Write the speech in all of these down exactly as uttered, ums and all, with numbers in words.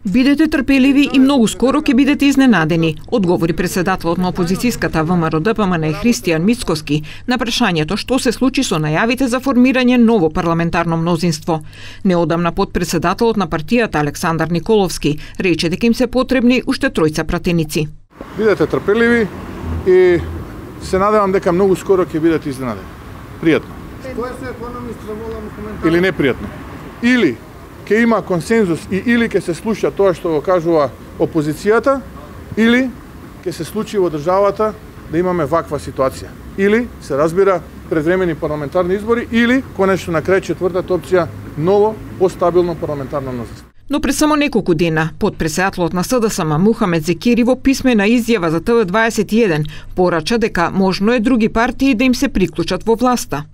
Бидете трпеливи и многу скоро ќе бидете изненадени, одговори председателот на опозицијската ВМРО-ДПМН Христијан Мицкоски на прашањето што се случи со најавите за формирање ново парламентарно мнозинство. Неодамна подпредседателот на партијата Александар Николовски рече дека им се потребни уште тројца пратеници. Бидете трпеливи и се надевам дека многу скоро ќе бидете изненадени. Пријатно. Или непријатно. Или ќе има консензус и или ќе се слуша тоа што го кажува опозицијата, или ќе се случи во државата да имаме ваква ситуација. Или се разбира предвремени парламентарни избори, или конечно на крај четвртата опција ново, постабилно парламентарно мнозинство. Но пред само неколку дена, подпредседателот на СДСМ Мухамед Зекири во писмена изјава за Т В дваесет и еден порача дека можно е други партии да им се приклучат во власта.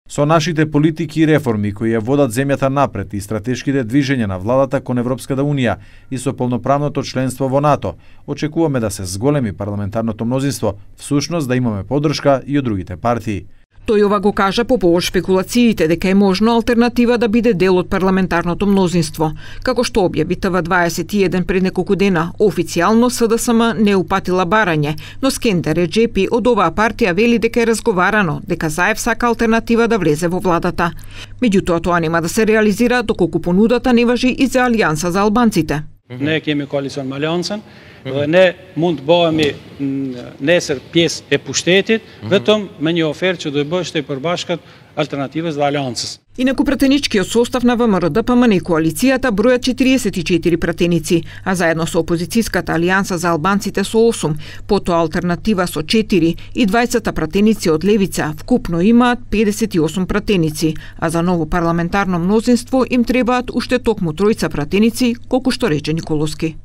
Со нашите политики и реформи кои ја водат земјата напред и стратешките движења на владата кон Европската унија и со полноправното членство во НАТО, очекуваме да се зголеми парламентарното мнозинство, всушност да имаме поддршка и од другите партии. Тој ова го кажа по повод шпекулациите дека е можно алтернатива да биде дел од парламентарното мнозинство. Како што објави Т В дваесет и еден пред неколку дена, официјално СДСМ не упатила барање, но Скендер Реџепи од оваа партија вели дека е разговарано, дека Заев сака алтернатива да влезе во владата. Меѓутоа тоа нема да се реализира доколку понудата не важи и за Алијанса за албанците. Ne kemi koalicion me Aliancën dhe ne mund të bëhemi nesër pjesë e pushtetit vetëm me një ofertë që do të bëhet e përbashkët Alternativës dhe Aliancës. Инаку пратеничкиот состав на ВМРО-ДПМН и коалицијата бројат четириесет и четири пратеници, а заедно со опозицијската Алијанса за албанците со осум, потоа Алтернатива со четири и дваесет пратеници од Левица, вкупно имаат педесет и осум пратеници, а за ново парламентарно мнозинство им требаат уште токму тројца пратеници, колку што рече Николовски.